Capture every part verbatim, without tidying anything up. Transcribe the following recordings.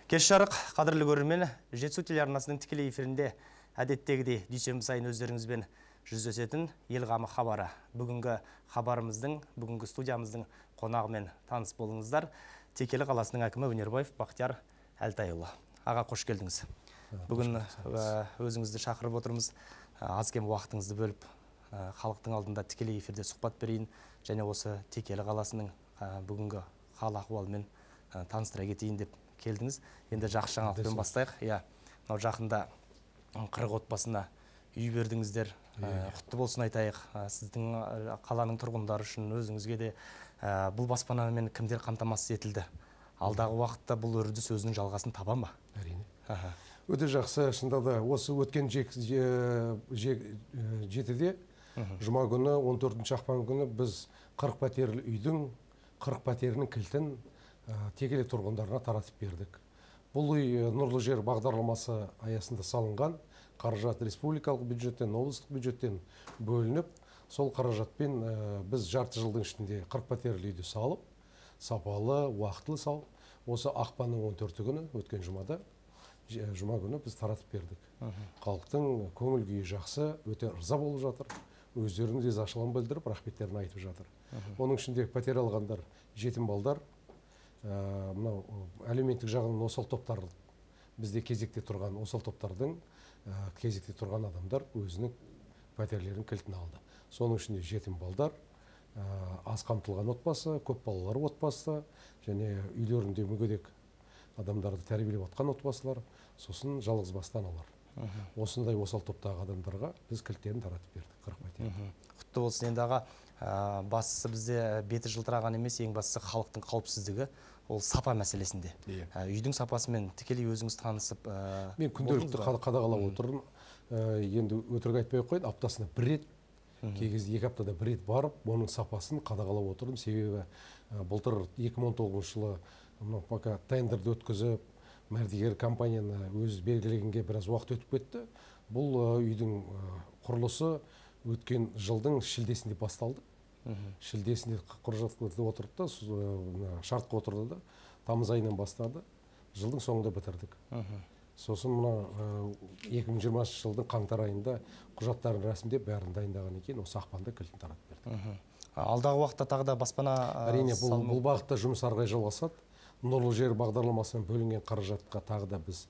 Кеш жарық, қадірлі көрермен, Жетісу телеарнасының тікелей эфирінде әдеттегідей дүйсенбі сайын өздеріңізбен жүздесетін ел қамы хабары. Бүгінгі хабарымыздың, бүгінгі студиямыздың қонағымен таныс болыңыздар. Текелі қаласының әкімі Өнербаев Бақтияр Әлтайұлы. Аға, қош келдіңіз. Бүгін өзіңізді шақырып отырмыз. Аз кем уақытыңызды бөліп, халықтың алдында тікелей эфирде сұхбат берейін, және осы Текелі қаласының бүгінгі хал ахуалымен таныстыра кетейін деп келдіңіз. Енді жақсы жаңалықпен бастайық. Иә, мынау жақында қырық отбасына үй бердіңіздер. Құтты болсын айтайық. Сіздің қаланың тұрғындары үшін, өзіңізге де бұл баспанамен кімдер қамтамасыз етілді? Алдағы уақытта бұл үрдіс өзінің жалғасын таба ма? Әрине. Өте жақсы. Шынында да осы өткен жетіде жұма күні, он төртінші ақпан күні біз қырық пәтерлі үйдің қырық пәтерінің кілтін Текелі тұрғындарына таратып бердік. Бұл үй Нұрлы жер бағдарламасы аясында салынған, қаражат республикалық бюджеттен, облыстық бюджеттен бөлініп, сол қаражатпен біз жарты жылдың ішінде қырық пәтерлі үйді салып, сапалы, уақытылы салып, осы ақпанның он төрті күні өткен жұмада, жұма күні біз таратып бердік. Халықтың көңіл күйі жақсы, өте ырза болып жатыр. Өздерінің ризашылығын білдіріп, рахметтерін айтып жатыр. Оның ішінде пәтер алғандар, жетім балдар, мынау әлеуметтік жағынан осал топтар, бізде кезекте тұрған осал топтардың кезекте тұрған адамдар өзінің пәтерлерін кілтін алды. Соның ішінде жетім балдар, аз қамтылған отбасы, көп балалар отбасы, және үйлерінде мүгедек адамдарды тәрбиелеп отқан отбасылар, сосын жалғыз басты аналар. Осындай осал топтағы адамдарға біз кілттерін таратып бердік, қырық пәтер. Құтты болсын. Енді аға, бастысы бізде беті жылтыраған емес, ең бастысы халықтың қауіпсіздігі, ол сапа мәселесінде. Үйдің сапасымен тікелей өзіңіз танысып... Мен күнделікті қадағалап отырмын. Енді өтірік айтпай қойды, аптасына бір рет, кей кезде екі аптада бір рет барып, оның сапасын қадағалап отырдым. Себебі былтыр екі мың он тоғызыншы жылы пока тендерді өткізіп, мәрдігер компанияны өз белгілегенге біраз уақыт өтіп кетті. Бұл үйдің құрылысы өткен жылдың шілдесінде басталды. Шілдесінде құжатқа отырды да, шартқа отырды да, тамыз айынан бастады. Жылдың соңында бітірдік. Сосын мына екі мың жиырмасыншы жылдың қаңтар айында құжаттарын рәсімдеп бәрін дайындаған екен, осы ақпанда кілтін таратып бердік. Алдағы уақытта тағы да баспана... Әрине, бұл бағытта жұмыс ары қарай жалғасады. Нұрлы жер бағдарламасымен бөлінген қаражатқа тағы да біз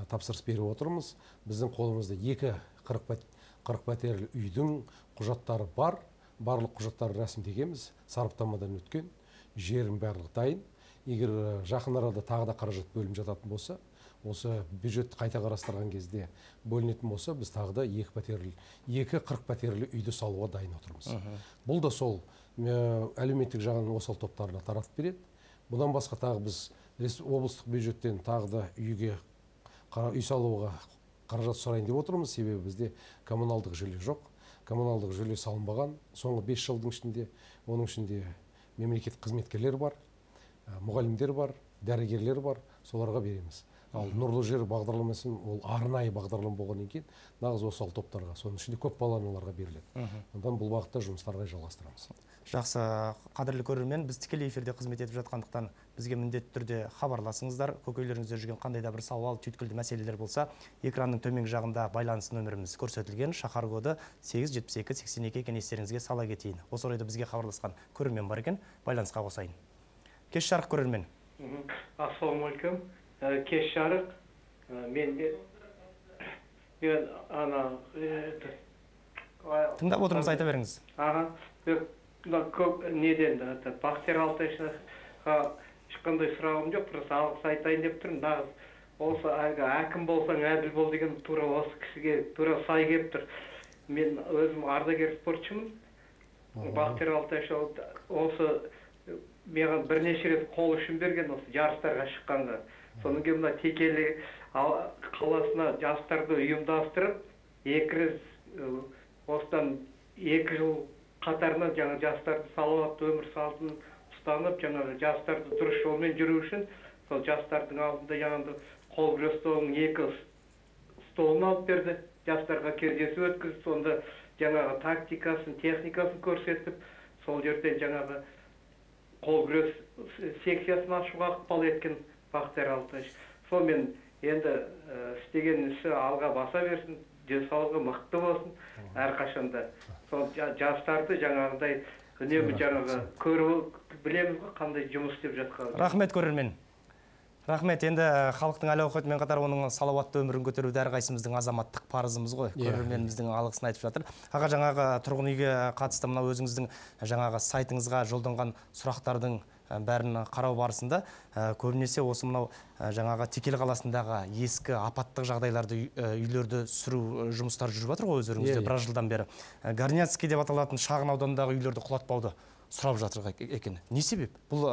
тапсырыс беріп отырмыз. Біздің қолымызда екі қырық пәтерлі үйдің құжаттары бар. Барлық құжаттары рәсімдегенбіз, сараптамадан өткен, жерін барлық дайын. Егер жақын арада тағы да қаражат бөлініп жататын болса, осы бюджетті қайта қарастырған кезде бөлінетін болса, біз тағы да екі қырық пәтерлі үйді салуға дайын отырмыз. Бұл да сол әлеуметтік жағынан осал топтарына таратып береді. Бұдан басқа тағы біз облыстық бюджеттен тағы да үйге үй салуға қаражат сұрайын деп отырмыз. Себебі бізде коммуналдық желі жоқ. Коммуналдық желі салынбаған. Соңғы бес жылдың ішінде, оның ішінде мемлекеттік қызметкерлер бар, мұғалімдер бар, дәрігерлер бар, соларға береміз. Ал Нұрлы жер бағдарламасын ол арнайы бағдарлама болғаннан кейін нағыз осал топтарға, соның ішінде көп балалы аналарға беріледі. Ондан бұл бағытта жұмыстарға жалғастырамыз. Жақсы, қадірлі көрермен, біз тікелей эфирде қызмет етіп жатқандықтан бізге міндетті түрде хабарласыңыздар. Көкейлеріңізде жүрген қандай да бір сауал, түйткілді мәселелер болса, экранның төменгі жағында байланыс нөміріміз көрсетілген, шақар коды сегіз жетпіс екі сексен екі екен, естеріңізге сала кетейін. Осы орайда бізге хабарласқан көрермен бар екен, байланысқа қосайын. Кеш жарық көрермен. Ассалаумалейкум. Кеш жарық. Мен де мен ана тыңдап отырмыз, айта беріңіз. Аға, көп неден Бақтияр Әлтайға ешқандай сұрағым жоқ, просто алғыс айтайын деп тұрмын. Нағыз осы әкім болсаң әділ бол деген тура осы кісіге тура сай келіп тұр. Мен өзім ардагер спортшымын. Бақтияр Әлтай осы маған бірнеше рет қол ұшын берген осы жарыстарға шыққанға. Соның кейін мына Текелі қаласына жастарды ұйымдастырып, екі рет осыдан екі жыл қатарынан жаңа жастарды салауатты өмір салтын ұстанып, жаңа жастарды дұрыс жолмен жүру үшін, сол жастардың алдында жаңағы қол күрес столының екі столын алып берді. Жастарға кездесу өткізді, сонда жаңағы тактикасын, техникасын көрсетіп, сол жерден жаңағы қол күрес секциясын ашуға ықпал еткен Бақтияр Әлтай. сонымен енді істеген ісі алға баса берсін, денсаулығы мықты болсын әрқашанда. Сол жастарды жаңағыдай үнемі жаңағы көріп білеміз ғой қандай жұмыс істеп жатқанын. Рахмет көрермен. Рахмет. Енді халықтың әл-ауқатымен қатар оның салауатты өмірін көтеруді әрқайсымыздың азаматтық парызымыз ғой. Көрерменіміздің алғысын айтып жатыр. Аға, жаңағы тұрғын үйге қатысты мына өзіңіздің жаңағы сайтыңызға жолданған сұрақтардың бәрін қарау барысында көбінесе осы мынау жаңағы Текелі қаласындағы ескі апаттық жағдайларды үйлерді сүру жұмыстары жүріп жатыр ғой өздеріңізде біраз жылдан бері. Горняцкий деп аталатын шағын аудандағы үйлерді құлатпауды сұрап жатыр екен. Не себеп? Бұл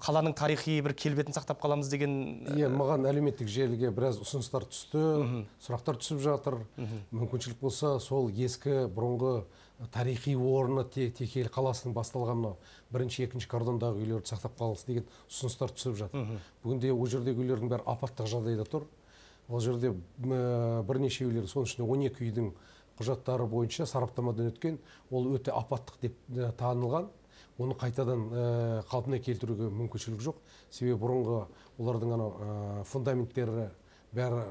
қаланың тарихи бір келбетін сақтап қаламыз деген... Иә, маған әлеуметтік желіге біраз ұсыныстар түсті, сұрақтар түсіп жатыр. Мүмкіншілік болса, сол ескі бұрынғы тарихи орны Текелі қаласының басталған бірінші, екінші кордондағы үйлерді сақтап қалыңыз деген ұсыныстар түсіп жатыр. Бүгінде ол жердегі үйлердің бәрі апаттық жағдайда тұр. Ол жерде бірнеше үйлер, соның ішінде он екі үйдің құжаттары бойынша сараптамадан өткен, ол өте апаттық деп танылған. Оны қайтадан қалпына келтіруге мүмкіншілік жоқ. Себебі бұрынғы олардың фундаменттері бәрі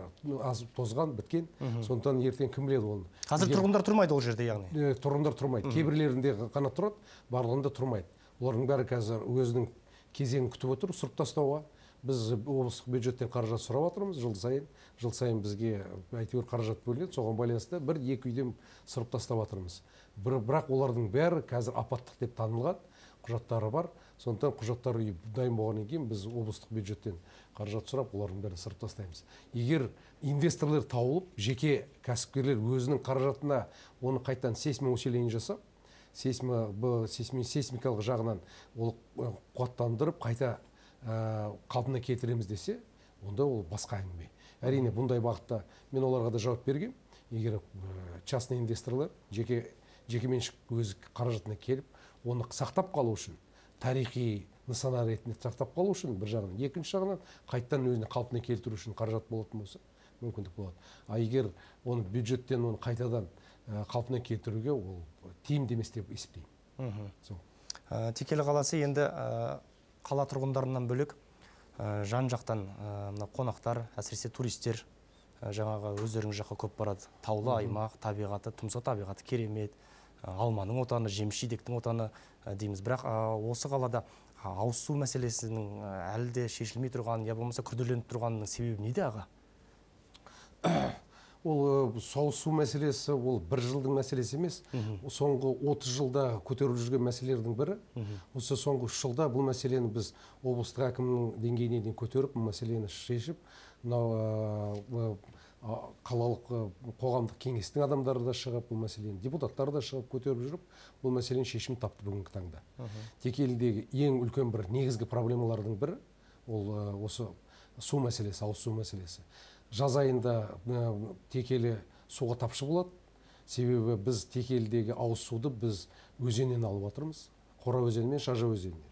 аз тозған, біткен. Сондықтан ертең кім біледі оны. Қазір тұрғындар тұрмайды ол жерде, яғни? Тұрғындар тұрмайды. Кейбірлерінде ғана тұрады, барлығында тұрмайды. Олардың бәрі қазір өзінің кезеңін күтіп отыр, сұрып тастауға. Біз облыстық бюджеттен қаражат сұрап отырмыз жыл сайын. Жыл сайын бізге әйтеуір қаражат бөлінеді, соған байланысты бір екі үйден сұрып тастап отырмыз. Бірақ олардың бәрі қазір апаттық деп танылған, құжаттары бар. Сондықтан құжаттар үйі дайын болғаннан кейін біз облыстық бюджеттен қаражат сұрап, олардың бәрін сырып тастаймыз. Егер инвесторлар тауылып, жеке кәсіпкерлер өзінің қаражатына оны қайтадан сейсмоусиление жасап, сейсмикалық жағынан ол қуаттандырып, қайта қалпына келтіреміз десе, онда ол басқа әңгіме. Әрине, бұндай бағытта мен оларға да жауап бергем. Егер частный инвесторлар жеке меншік өз қаражатына келіп, оны сақтап қалу үшін, тарихи нысана ретінде сақтап қалу үшін бір жағынан, екінші жағынан қайттан өзіне қалпына келтіру үшін қаражат болатын болса, мүмкіндік болады. А егер оны бюджеттен оны қайтадан қалпына келтіруге ол тиімді емес деп есептеймін. Текелі қаласы енді қала тұрғындарынан бөлек жан жақтан қонақтар, әсіресе туристер жаңағы өздеріңіз жаққа көп барады. Таулы аймақ, табиғаты, тұмса табиғаты керемет, алманың отаны, жеміс-жидектің отаны дейміз. Бірақ осы қалада ауыз су мәселесінің әлі де шешілмей тұрғанын, я болмаса күрделеніп тұрғанының себебі неде, аға? Ол ауыз су мәселесі, ол бір жылдың мәселесі емес. Соңғы отыз жылда көтеріліп жүрген мәселелердің бірі. Осы соңғы үш жылда бұл мәселені біз облыстық әкімнің деңгейіне дейін көтеріп, бұл мәселені шешіп, қалалық қоғамдық кеңестің адамдары да шығып, бұл мәселені депутаттары да шығып көтеріп жүріп, бұл мәселені шешім тапты бүгінгі таңда. Текелідегі ең үлкен бір негізгі проблемалардың бірі ол осы су мәселесі, ауыз су мәселесі. Жаз айында Текелі суға тапшы болады. Себебі біз Текелідегі ауыз суды біз өзеннен алып отырмыз. Қора өзені мен Шажа өзенінен.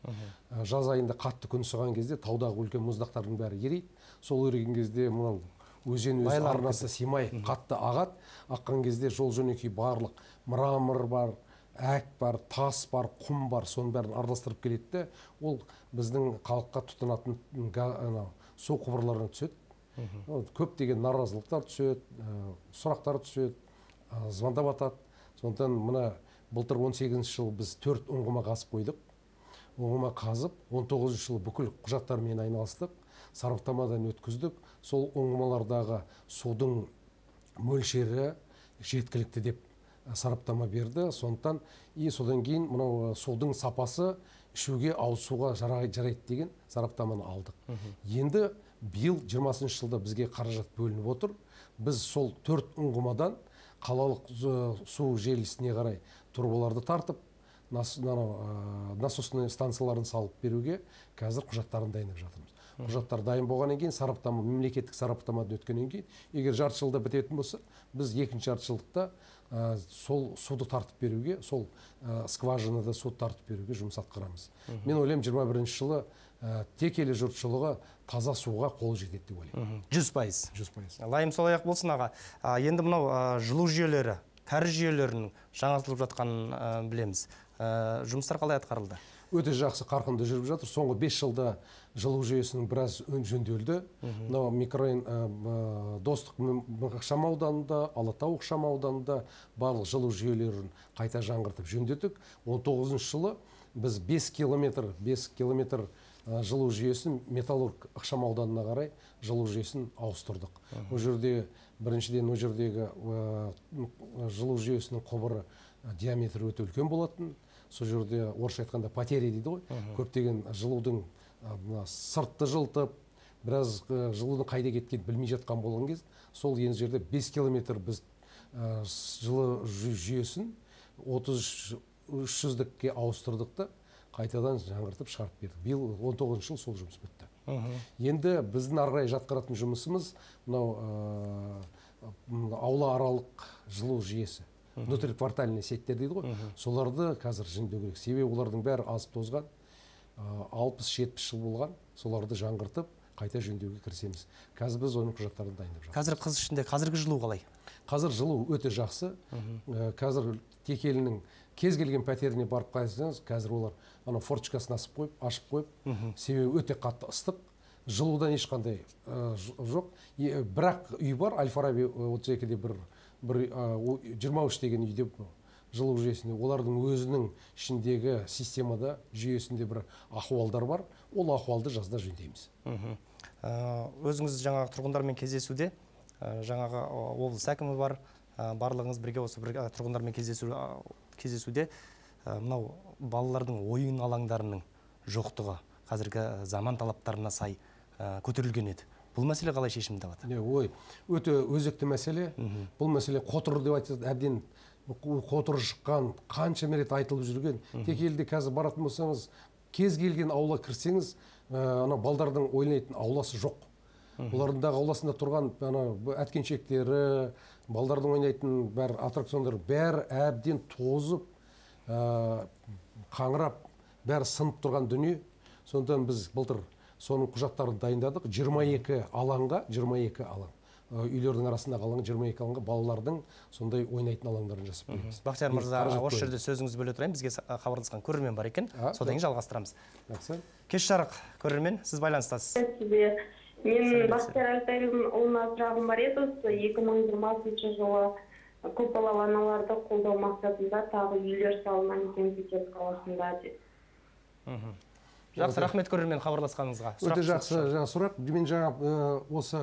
Жаз айында қатты күн сығған кезде таудағы үлкен мұздақтардың бәрі ерейді. Сол еріген кезде мынау өзен өз арнасы симай қатты ағады. Аққан кезде жол жөнекей барлық мрамор бар, әк бар, тас бар, құм бар, соның бәрін араластырып келеді. Ол біздің халыққа тұтынатын су құбырларына түседі. Көптеген наразылықтар түседі, сұрақтар түседі, звондап атады. Сондықтан мына былтыр он сегізінші жыл біз төрт ұңғыма қазып қойдық. Ұңғыма қазып, он тоғызыншы жыл бүкіл құжаттармен айналыстық, сараптамадан өткіздік. Сол ұңғымалардағы судың мөлшері жеткілікті деп сараптама берді. Сондықтан и содан кейін мынау судың сапасы ішуге, ауыз суға жарайды деген сараптаманы алдық. Енді биыл жиырмасыншы жылда бізге қаражат бөлініп отыр. Біз сол төрт ұңғымадан қалалық су желісіне қарай трубаларды тартып, насосный станцияларын салып беруге қазір құжаттарын дайындап жатырмыз. Құжаттар дайын болғаннан кейін, сараптама, мемлекеттік сараптамадан өткеннен кейін, егер жарты жылда бітетін болса, біз екінші жарты жылдықта сол суды тартып беруге, сол скважинада суды тартып беруге жұмыс атқарамыз. Мен ойлаймын, жиырма бірінші жылы Текелі жұртшылығы таза суға қол жетеді деп ойлаймын. жүз пайыз. жүз пайыз. Лайым солай ақ болсын, аға. Енді мынау жылу жүйелері, кәріз жүйелерінің жаңартылып жатқанын білеміз. Жұмыстар қалай атқарылды? өте жақсы қарқынды жүріп жатыр. Соңғы бес жылда жылу жүйесінің біраз жөнделді. Мынау микрорайон Достық ықшам ауданында, Алатау ықшам ауданында барлық жылу жүйелерін қайта жаңғыртып жөндедік. он тоғызыншы жылы біз бес километр бес километр жылу жүйесін Металлург ықшам ауданына қарай жылу жүйесін ауыстырдық. Ол жерде біріншіден ол жердегі жылу жүйесінің құбыры диаметрі өте үлкен болатын. Сол жерде орысша айтқанда потеря дейді ғой. Көптеген жылудың сыртты жылтып, біраз жылудың қайда кеткенін білмей жатқан болған кез, сол енді жерде бес километр біз жылу жүйесін отыз үш жүздікке ауыстырдық та қайтадан жаңғыртып шығарып бердік. Биыл он тоғызыншы жыл сол жұмыс бітті. Енді біздің ары қарай жатқаратын жұмысымыз мынау аула аралық жылу жүйесі. Внутриквартальный сеттер дейді ғой. Соларды қазір жөндеу керек. Себебі олардың бәрі азып тозған, алпыс жетпіс жыл болған. Соларды жаңғыртып, қайта жөндеуге кірісеміз. Қазір біз оның құжаттарын дайындап жатырмыз. Қазір қыз ішінде қазіргі жылу қалай? Қазір жылу өте жақсы. Қазір Текелінің кез келген пәтеріне барып қайсаңыз, қазір олар ана форточкасын асып қойып, ашып қойып, себебі өте қатты ыстық. Жылудан ешқандай жоқ. Бірақ үй бар, Аль-Фараби отыз екіде бір жиырма үш деген үйде жылу жүйесінде, олардың өзінің ішіндегі системада, жүйесінде бір ахуалдар бар. Ол ахуалды жазда жөндейміз. Өзіңіз жаңағы тұрғындармен кездесуде, жаңағы облыс әкімі бар, барлығыңыз бірге осы бір тұрғындармен кездесуде, мынау балалардың ойын алаңдарының жоқтығы қазіргі заман талаптарына сай көтерілген еді. Бұл мәселе қалай шешімін табады? Ой, өте өзекті мәселе. Бұл мәселе қотыр деп айтады, әбден қотыр шыққан, қанша мәрет айтылып жүрген. Текеліде қазір баратын болсаңыз, кез келген аула кірсеңіз, ана балдардың ойнайтын ауласы жоқ. Олардың дағы ауласында тұрған әткеншектері, балдардың ойнайтын бәр аттракциондар бәрі әбден тозып, қаңырап, бәрі сынып тұрған дүние. Сондықтан біз былтыр соның құжаттарын дайындадық. жиырма екі алаңға, жиырма екі алаң. Үйлердің арасындағы алаңға, жиырма екі алаңға балалардың сондай ойнайтын алаңдарын жасап береміз. Бақтияр мырза, осы жерде сөзіңізді бөле тұрайын. Бізге хабарласқан көрермен бар екен. Содан кейін жалғастырамыз. Кеш жарық, көрермен, сіз байланыстасыз. Мен Бақтияр Алтайұлына сұрағым бар еді, осы екі мың жиырмасыншы жылы көпбалалы аналарды қолдау мақсатында тағы үйлер салынған екен Петер қаласында деді. Жақсы, рахмет көрермен хабарласқаныңызға. Өте жақсы сұрақ. Мен жаңа осы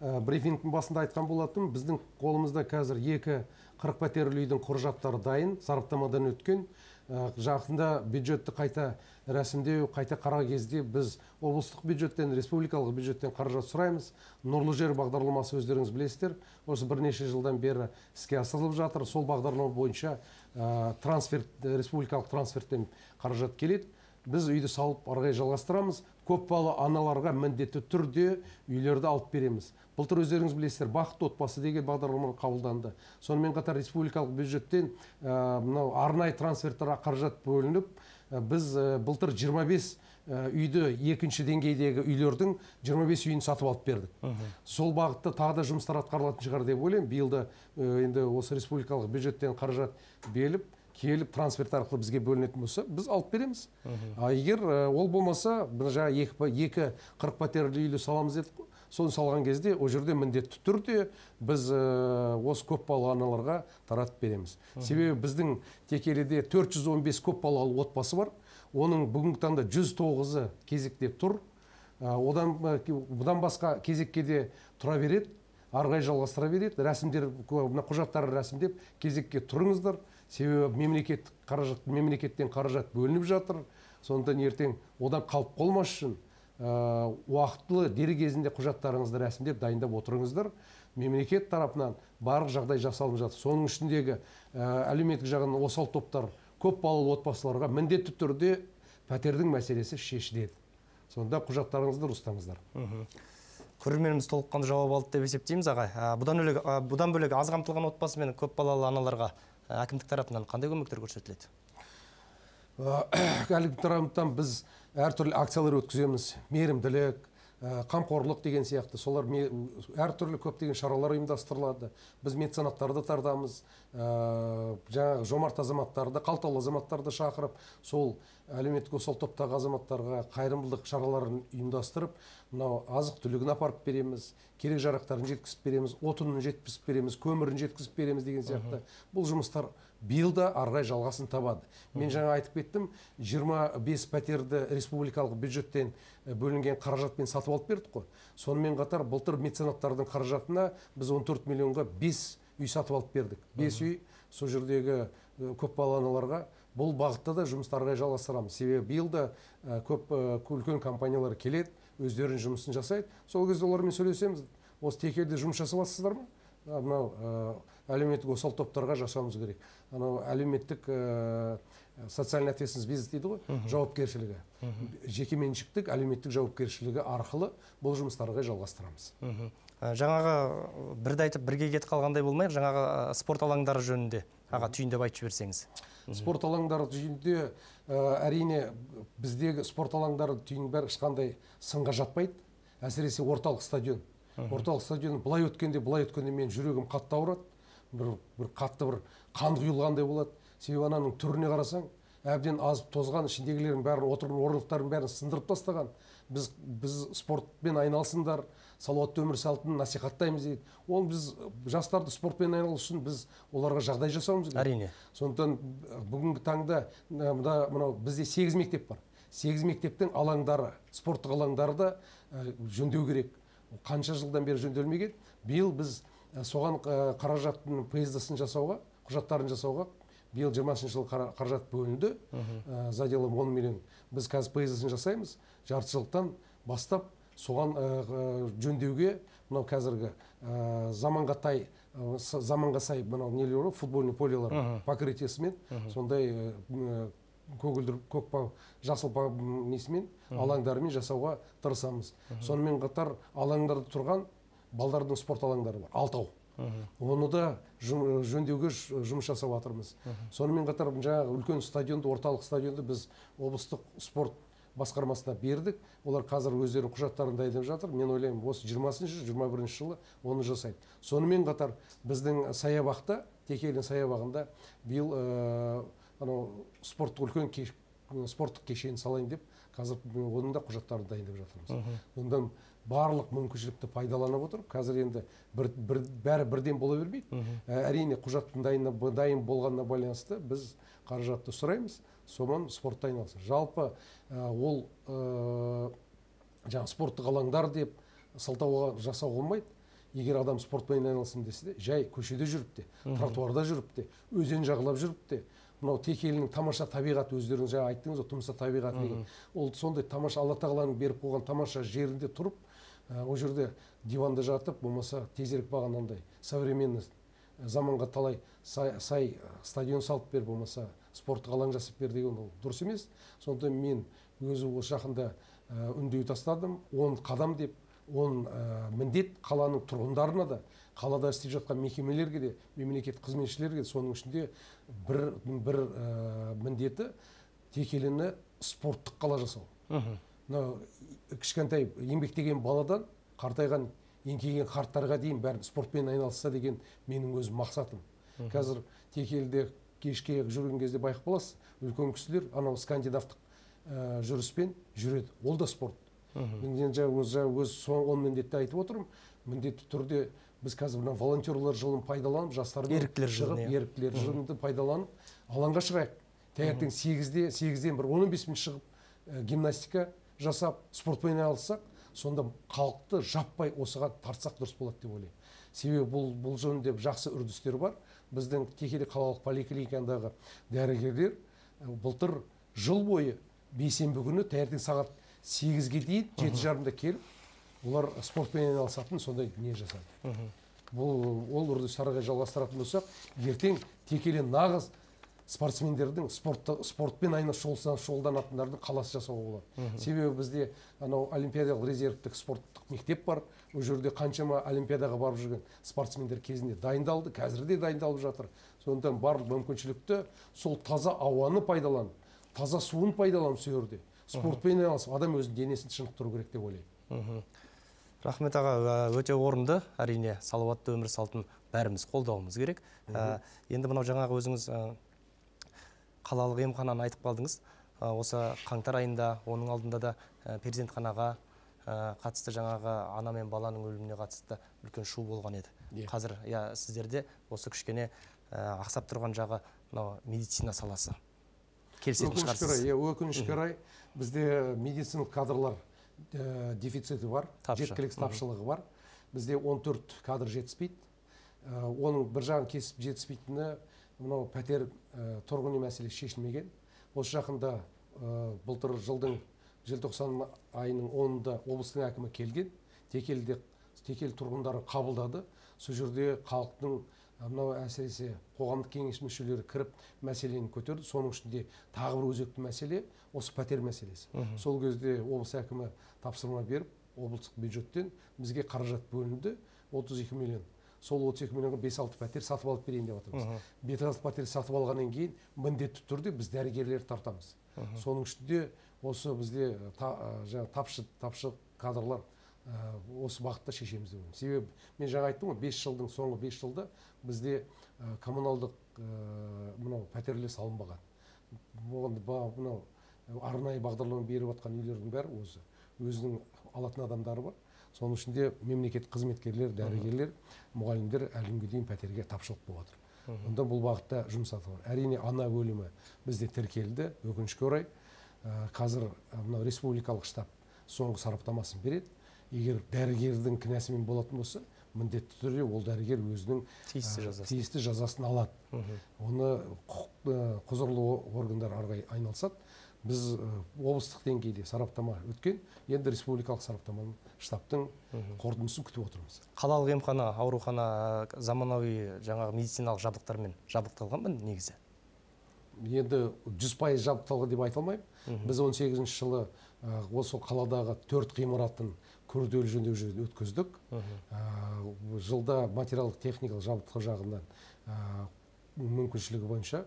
брифингтің басында айтқан болатын, біздің қолымызда қазір екі қырық пәтерлі үйдің құжаттары дайын, сараптамадан өткен. Жақында бюджетті қайта рәсімдеу, қайта қарау кезде біз облыстық бюджеттен, республикалық бюджеттен қаражат сұраймыз. Нұрлы жер бағдарламасы өздеріңіз білесіздер. Осы бірнеше жылдан бері іске асырылып жатыр. Сол бағдарлама бойынша трансферт, республикалық трансферттен қаражат келеді. Біз үйді салып арғай жалғастырамыз. Көпбалалы аналарға міндетті түрде үйлерді алып береміз. Былтыр өздеріңіз білесіздер, бақытты отбасы деген бағдарлама қабылданды. Сонымен қатар республикалық бюджеттен мынау арнайы трансферттер қаражат бөлініп, біз былтыр жиырма бес үйді екінші деңгейдегі үйлердің жиырма бес үйін сатып алып бердік. Сол бағытта тағы да жұмыстар атқарылатын шығар деп ойлаймын. Биылда енді осы республикалық бюджеттен қаражат беріліп, келіп трансферт арқылы бізге бөлінетін болса, біз алып береміз. Егер ол болмаса, жаңа екі қырық пәтерлі үйлі саламыз дедік, соны салған кезде ол жерде міндетті түрде біз осы көпбалалы аналарға таратып береміз. Себебі біздің Текеліде төрт жүз он бес көпбалалы отбасы бар. Оның бүгінгі таңда жүз тоғызы кезекте тұр. Одан бұдан басқа кезекке де тұра береді, арғай жалғастыра береді. Рәсімдер, құжаттары рәсімдеп, кезекке тұрыңыздар. Себебі мемлекет қаражат, мемлекеттен қаражат бөлініп жатыр. Сондықтан ертең одан қалып қалмас үшін уақытлы дер кезінде құжаттарыңызды рәсімдеп дайындап отырыңыздар. Мемлекет тарапынан барлық жағдай жасалып жатыр. Соның ішіндегі әлеуметтік жағынан осал топтар, көпбалалы отбасыларға міндетті түрде пәтердің мәселесі шешіледі. Сонда құжаттарыңызды ұстаңыздар. Көрерменіміз толыққанды жауап алды деп есептейміз, ағай. Бұдан бөлек аз қамтылған отбасы мен көпбалалы аналарға әкімдік тарапынан қандай көмектер көрсетіледі? Әкімдік тарапынан біз әртүрлі акциялар өткіземіз. Мейірімділік, қамқорлық деген сияқты солар әртүрлі көптеген шаралар ұйымдастырылады. Біз меценаттарды тартамыз, жаңағы жомарт азаматтарды, қалталы азаматтарды шақырып, сол әлеуметтік осал топтағы азаматтарға қайырымдылық шараларын ұйымдастырып, мынау азық түлігін апарып береміз, керек жарақтарын жеткізіп береміз, отынын жеткізіп береміз, көмірін жеткізіп береміз деген сияқты. Бұл жұмыстар биыл да арғай жалғасын табады. Мен жаңа айтып кеттім, жиырма бес пәтерді республикалық бюджеттен бөлінген қаражатпен сатып алып бердік қой. Сонымен қатар былтыр меценаттардың қаражатына біз он төрт миллионға бес үй сатып алып бердік. бес үй сол жердегі көпбалалы аналарға. Бұл бағытта да жұмысты арғай жалғастырамыз. Себебі биыл да көп үлкен компаниялар келеді, өздерінің жұмысын жасайды. Сол кезде олармен сөйлесеміз. Осы текелде жұмыс жасап жатсыздар ма? Мынау әлеуметтік осал топтарға жасауымыз керек. Анау әлеуметтік социальный ответственность бизнес дейді ғой, жауапкершілігі. Жекеменшіктік әлеуметтік жауапкершілігі арқылы бұл жұмыстарға жалғастырамыз. Жаңағы бірді айтып бірге кетіп қалғандай болмайық, жаңағы спорт алаңдары жөнінде аға түйіндеп айтып жіберсеңіз. Спорт алаңдары түйінде әрине біздегі спорт алаңдары түйін бәрі ешқандай сынға жатпайды. Әсіресе орталық стадион. Орталық стадион былай өткенде, былай өткенде мен жүрегім қатты ауырады. Бір, бір қатты бір қан құйылғандай болады. Себебі ананың түріне қарасаң, әбден азып тозған, ішіндегілердің бәрін, отырған орындықтардың бәрін сындырып тастаған. Біз, біз спортпен айналсындар, салауатты өмір салтын насихаттаймыз дейді. Ол біз жастарды спортпен айналысу үшін біз оларға жағдай жасауымыз керек. Әрине. Сондықтан бүгінгі таңда мынау бізде сегіз мектеп бар. сегіз мектептің алаңдары, спорттық алаңдары да жөндеу керек. Қанша жылдан бері жөнделмеген. Биыл біз соған қаражаттың поездысын жасауға, құжаттарын жасауға биыл жиырмасыншы жыл қаражат бөлінді. Заделом он миллион. Біз қазір поездысын жасаймыз. Жарты жылдан бастап соған жөндеуге, мынау қазіргі заманға тай, заманға сай мынау нелер бар, футбольный полелар покрытиесімен, сондай көгілдір көкпа жасыл несімен алаңдарымен жасауға тырысамыз. Сонымен қатар алаңдарда тұрған балдардың спорт алаңдары бар, алтау. Оны да жөндеуге жұмыс жасап жатырмыз. Сонымен қатар жаңағы үлкен стадионды, орталық стадионды біз облыстық спорт басқармасына бердік. Олар қазір өздерінің құжаттарын дайындап жатыр. Мен ойлаймын, осы жиырмасыншы жиырма бірінші жылы оны жасайды. Сонымен қатар біздің саябақта, Текелдің саябағында биыл анау спорттық үлкен спорттық кешен салайын деп, қазір оның да құжаттарын дайындап жатырмыз. Ондан барлық мүмкіншілікті пайдаланып отырып, қазір енді бәрі бірден бола бермейді. Әрине құжаттың дайын болғанына байланысты біз қаражатты сұраймыз, соған спортта айналысты. Жалпы ол жаңа спорттық алаңдар деп сылтауға жасау болмайды. Егер адам спортпен айналысым десе де, жай көшеде жүріп те, тротуарда жүріп те, өзен жағалап жүріп те, мынау Текелінің тамаша табиғаты, өздеріңіз жаңа айттыңыз, тұмса табиғаты деген. Ол сондай тамаша, Алла тағаланың беріп қойған тамаша жерінде тұрып, о жерде диванда жатып, болмаса тезірек бағанандай современный заманға талай сай стадион салып бер, болмаса спорттық алаң жасап бер деген ол дұрыс емес. Сонда мен өзі осы жақында үндеу тастадым, он қадам деп, он міндет қаланың тұрғындарына да, қалада істеп жатқан мекемелерге де, мемлекет қызметшілерге де, соның ішінде бір, бір міндеті Текеліні спорттық қала жасау. Кішкентай еңбектеген баладан қартайған еңкейген қарттарға дейін бәрін спортпен айналысса деген менің өз мақсатым. Қазір Текелде кешке жүрген кезде байқап қаласыз, үлкен кісілер анау скандинавтық жүріспен жүреді. Ол да спорт. Мен өз он міндетті айтып отырмын. Міндетті түрде біз қазір волонтерлар жылын пайдаланып, жастармен шығып, еріктілер жылынды пайдаланып, алаңға шығайық. Таңертең сегізден бір он бес минут шығып гимнастика жасап, спортпен айналыссақ, сонда халықты жаппай осыған тартсақ дұрыс болады деп ойлаймын. Себебі бұл жөнінде жақсы үрдістер бар. Біздің Текелі қалалық поликлиникадағы дәрігерлер былтыр жыл бойы бейсенбі күні таңертең сағат сегізге дейін жеті жарымда келіп, олар спортпен айналысатын сондай не жасады. Бұл ол үрдістарға жалғастыратын болсақ, ертең Текелі нағыз спортсмендердің спортпен айналысып шұғылданатындардың қаласы жасауға болады. Себебі бізде анау олимпиадалық резервтік спорттық мектеп бар. Ол жерде қаншама олимпиадаға барып жүрген спортсмендер кезінде дайындалды, қазір де дайындалып жатыр. Сондықтан барлық мүмкіншілікті сол таза ауаны пайдаланып, таза суын пайдаланып сол жерде спортпен айналысып, адам өзінің денесін шынықтыру керек деп ойлаймын. Рахмет аға, өте орынды, әрине салауатты өмір салтын бәріміз қолдауымыз керек. Енді мынау жаңағы өзіңіз қалалық емхананы айтып қалдыңыз. Осы қаңтар айында оның алдында да перзентханаға қатысты жаңағы ана мен баланың өліміне қатысты үлкен шу болған еді. Қазір сіздерде осы кішкене ақсап тұрған жағы медицина саласы. Келісетін шығарсыз. Өкінішке орай бізде медициналық кадрлар дефициті бар, жеткіліксіз тапшылығы бар. Бізде он төрт кадр жетіспейді. Оның бір жағын кесіп жетіспейтіні мынау пәтер тұрғын үй мәселесі шешілмеген. Осы жақында былтыр жылдың желтоқсан айының онында облыстың әкімі келген, текелде текел тұрғындары қабылдады. Сол жерде халықтың мынау әсіресе қоғамдық кеңес мүшелері кіріп мәселені көтерді. Соның ішінде тағы бір өзекті мәселе осы пәтер мәселесі. Сол кезде облыс әкімі тапсырма беріп, облыстық бюджеттен бізге қаражат бөлінді отыз екі миллион. Сол отыз екі миллионға бес алты пәтер сатып алып берейін деп отырмыз. бес алты пәтер сатып алғаннан кейін міндетті түрде біз дәрігерлер тартамыз. Соның ішінде осы бізде тапшы тапшы кадрлар осы бағытта шешеміз деп. Себебі мен жаңа айттым ғой, бес жылдың соңғы бес жылда бізде коммуналдық мынау пәтерлер салынбаған. Мынау арнайы бағдарлама беріп жатқан үйлердің бәрі өзі өзінің алатын адамдары бар. Соның ішінде мемлекет қызметкерлер, дәрігерлер, мұғалімдер әлі күнге дейін пәтерге тапшылық болып жатыр. Онда бұл бағытта жұмыс атқарылып жатыр. Әрине ана өлімі бізде тіркелді, өкінішке орай. Қазір мынау республикалық штаб соңғы сараптамасын береді. Егер дәрігердің кінәсімен болатын болса, міндетті түрде ол дәрігер өзінің тиісті жазасын алады. Оны құзырлы органдар арғай айналысады. Біз облыстық деңгейде сараптама өткен, енді республикалық сараптаманың штабтың қорытындысын күтіп отырмыз. Қалалық емхана, аурухана заманауи жаңағы медициналық жабдықтармен жабдықталған ба негізі? Енді жүз пайыз жабдықталған деп айта алмаймын. Біз он сегізінші жылы осы қаладағы төрт ғимаратын күрделі жөндеу өткіздік. Жылда материалдық техникалық жабдық жағынан мүмкіншілігі бойынша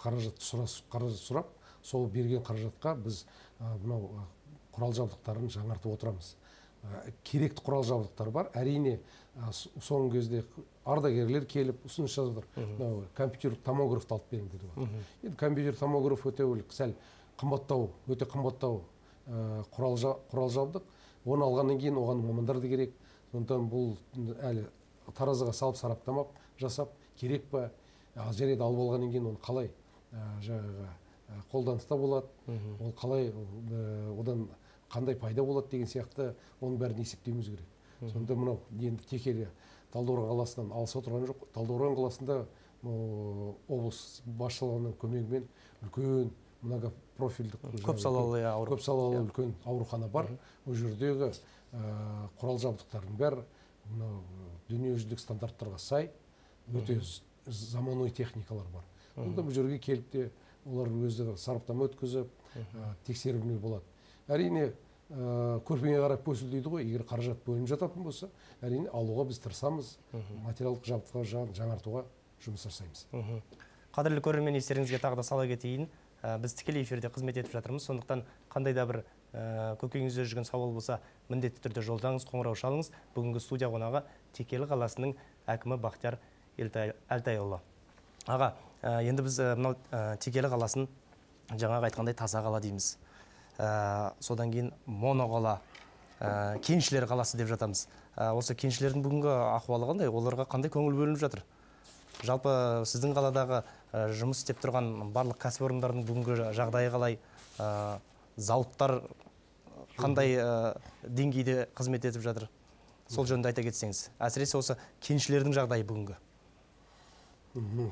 қаражат сұрап, сол берген қаражатқа біз мынау құрал жабдықтарын жаңартып отырамыз. Керекті құрал жабдықтар бар. Әрине соңғы кезде ардагерлер келіп ұсыныс жазып отыр. Компьютерлік томографты алып беріңіз деді. Енді компьютер томограф өте сәл қымбаттау, өте қымбаттау құрал жабдық. Оны алғаннан кейін оған мамандар да керек. Сондықтан бұл әлі таразыға салып сараптамап жасап керек па, жарайды алып алғаннан кейін оны қалай жаңағы қолданыста болады, ол қалай одан қандай пайда болады деген сияқты оның бәрін есептеуіміз керек. Сонда мынау енді текелі Талдықорған қаласынан алыс отырған жоқ. Талдықорған қаласында облыс басшылығының көмегімен үлкен многопрофильдік көп салалы көп салалы үлкен аурухана бар. Ол жердегі құрал жабдықтардың бәрі дүниежүзілік стандарттарға сай өте заманауи техникалар бар. Онда бұл жерге келіп те олар өзі сараптама өткізіп, тексерілмей болады. Әрине, көрпеңе қарап көсіл дейді ғой, егер қаражат бөлініп жататын болса, әрине алуға біз тырысамыз, материалдық жабдықтар жаңартуға жұмыс жасаймыз. Қадірлі көрермен, естеріңізге тағы да сала кетейін. Біз тікелей эфирде қызмет етіп жатырмыз. Сондықтан қандай да бір көкейіңізде жүрген сауал болса, міндетті түрде жолдаңыз, қоңырау шалыңыз. Бүгінгі студия қонағы Текелі қаласының әкімі Бақтияр Әлтайұлы. Аға, енді біз мынау Текелі қаласын жаңағы айтқандай таза қала дейміз. Содан кейін моноқала, кеншілер қаласы деп жатамыз. Осы кеншілердің бүгінгі ахуалы қандай? Оларға қандай көңіл бөлініп жатыр? Жалпы сіздің қаладағы жұмыс істеп тұрған барлық кәсіпорындардың бүгінгі жағдайы қалай? Зауыттар қандай деңгейде қызмет етіп жатыр? Сол жөнінде айта кетсеңіз. Әсіресе осы кеншілердің жағдайы бүгінгі.